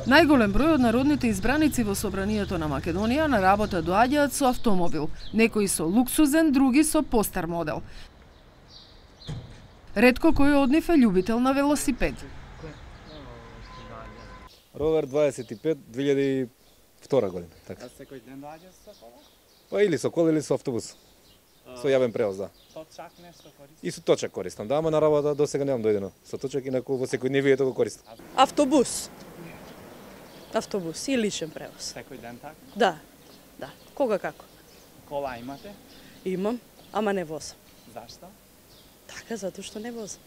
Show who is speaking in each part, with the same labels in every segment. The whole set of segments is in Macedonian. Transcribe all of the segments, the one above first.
Speaker 1: Најголем број од народните избраници во собранието на Македонија на работа доаѓаат со автомобил, некои со луксузен, други со постар модел. Ретко кој од нив е љубител на велосипед.
Speaker 2: Ровер 25 2002 година, така.
Speaker 3: А секој ден доаѓа со кола?
Speaker 2: Па или со кола или со автобус. Со јавен превоз, да.
Speaker 3: Точак нешто користи?
Speaker 2: И со точак користам, да, ама на работа до сега немам дојдено. Со точак инаку во секојдневието го користам.
Speaker 4: Автобус. Автобус и личен превоз.
Speaker 3: Секој ден така?
Speaker 4: Да, да. Кога како?
Speaker 3: Кола имате?
Speaker 4: Имам, ама не возам.
Speaker 3: Зашто?
Speaker 4: Така, затоа што не возам.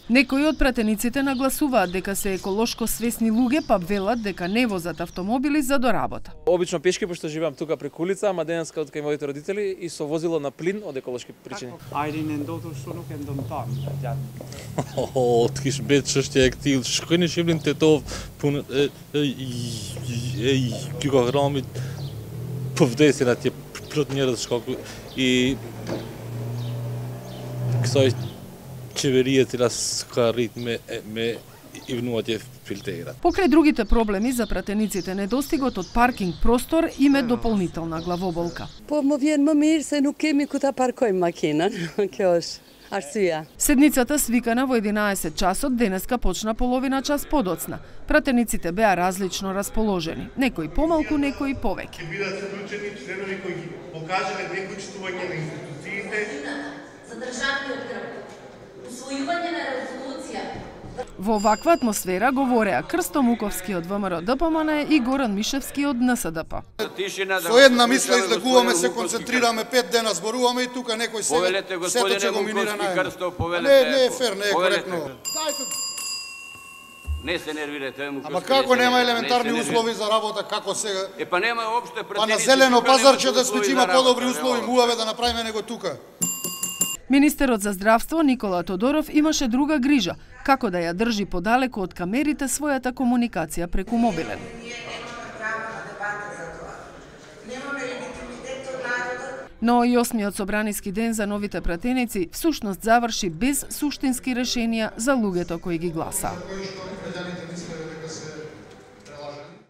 Speaker 1: Некои од пратениците нагласуваат дека се еколошко свесни луѓе, па велат дека не возат автомобили за до работа.
Speaker 5: Обично пешки, пошто живеам тука преку улица, ама денеска од кај моите родители и со возило на плин од еколошки причини.
Speaker 3: Ajrin en dotur што nuk e ndëmton gjatë.
Speaker 6: Të kish mbet çështja e këtij, shkoj në Shqipërinë tetov, punë ky kohërami po vdesin atje plot njerëz shkaku i kësaj qeveria e cila s'ka arrit me i vënu atje filtera.
Speaker 1: Покрај другите проблеми за пратениците, недостигот од паркинг простор им е дополнителна главоболка.
Speaker 4: Po më vjen më mirë se nuk kemi ku ta parkojmë makinën. Kjo është arsyeja.
Speaker 1: Седницата свикана во 11 часот денеска почна половина час подоцна. Пратениците беа различно расположени, некои помалку, некои повеќе.
Speaker 7: Ќе бидат вклучени членови кои ги покажале непочитување на институциите,
Speaker 8: задржани од крв, усвојување на резолуција.
Speaker 1: Во ваква атмосфера говореа Крсто Муковски од ВМРО ДПМН и Горан Мишевски од НСДП.
Speaker 9: Со една мисла излегуваме, се концентрираме 5 дена, зборуваме и тука некој сето ќе го минира најмно. Не е фер, не е коректно.
Speaker 10: Не се нервирате, Муковски.
Speaker 9: Ама како нема елементарни услови за работа, како сега?
Speaker 10: Па нема опште претеници.
Speaker 9: Па на зелено пазарче да сме има подобри услови, муваме да направиме него тука.
Speaker 1: Министерот за здравство Никола Тодоров имаше друга грижа, како да ја држи подалеку од камерите својата комуникација преку мобилен. Но и 8-миот собраниски ден за новите пратеници всушност заврши без суштински решенија за луѓето кои ги гласаа.